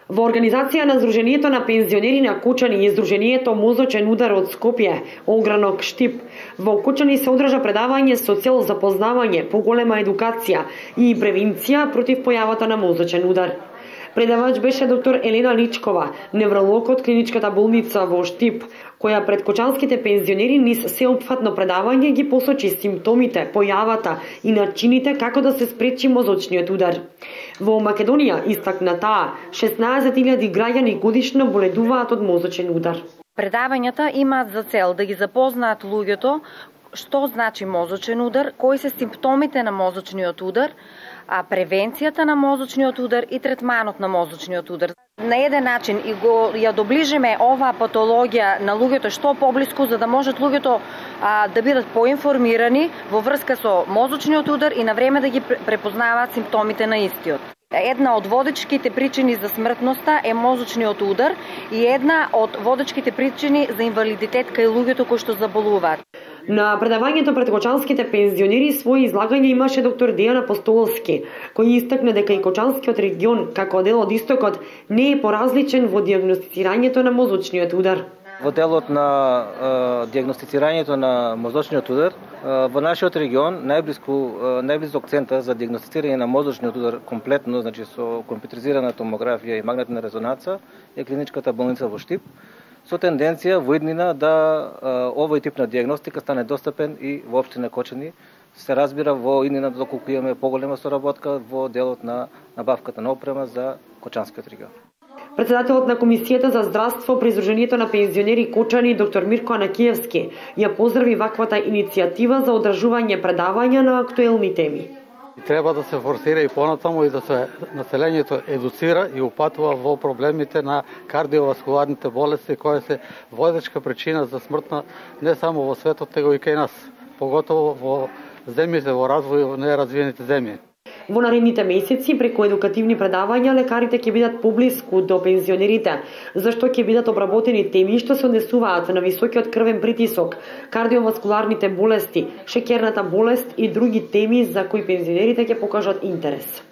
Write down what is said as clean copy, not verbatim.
Во организација на Сдруженијето на пензионери на Кучани и Сдруженијето Мозочен удар од Скопје, огранок Штип, во Кучани се одржа предавање со цел запознавање, поголема едукација и превенција против појавата на мозочен удар. Предавач беше доктор Елена Личкова, невролог од клиничката болница во Штип, која пред кочанските пензионери низ сеопфатно предавање ги посочи симптомите, појавата и начините како да се спречи мозочниот удар. Во Македонија, истакна таа, 16.000 граѓани годишно боледуваат од мозочен удар. Предавањата имаат за цел да ги запознаат луѓето што значи мозочен удар, кои се симптомите на мозочниот удар, а превенцијата на мозочниот удар и третманот на мозочниот удар. На еден начин и ја доближиме оваа патологија на луѓето што поблиску, за да можат луѓето да бидат поинформирани во врска со мозочниот удар и на време да ги препознаваат симптомите на истиот. Една од водечките причини за смртноста е мозочниот удар и една од водечките причини за инвалидитет кај луѓето кои што заболуваат. На предавањето пред кочанските пензионери своји излагање имаше доктор Дејан Апостоловски, кој истакна дека и кочанскиот регион, како дел од истокот, не е поразличен во дијагностицирањето на мозочниот удар. Во делот на дијагностицирањето на мозочниот удар, во нашиот регион најблизок центар за дијагностицирање на мозочниот удар комплетно, значи со компјутеризирана томографија и магнетна резонанца, е клиничката болница во Штип, со тенденција во иднина да овој тип на дијагностика стане достапен и во општина Кочани. Се разбира во иднина доколку имаме поголема соработка во делот на набавката на опрема за кочанскиот регион. Председателот на Комисијата за здравство при Сдруженијето на пензионери Кочани, доктор Мирко Анакиевски, ја поздрави ваквата иницијатива за одржување предавања на актуелни теми. Треба да се форсира и понатаму и да се населението едуцира и упатува во проблемите на кардиоваскуларните болести, кои се водечка причина за смртна не само во светот, него и кај нас, поготово во земјите во развој во неразвиените земји. Во наредните месеци, преку едукативни предавања, лекарите ќе бидат поблиску до пензионерите, зашто ќе бидат обработени теми што се однесуваат на високиот крвен притисок, кардиоваскуларните болести, шеќерната болест и други теми за кои пензионерите ќе покажат интерес.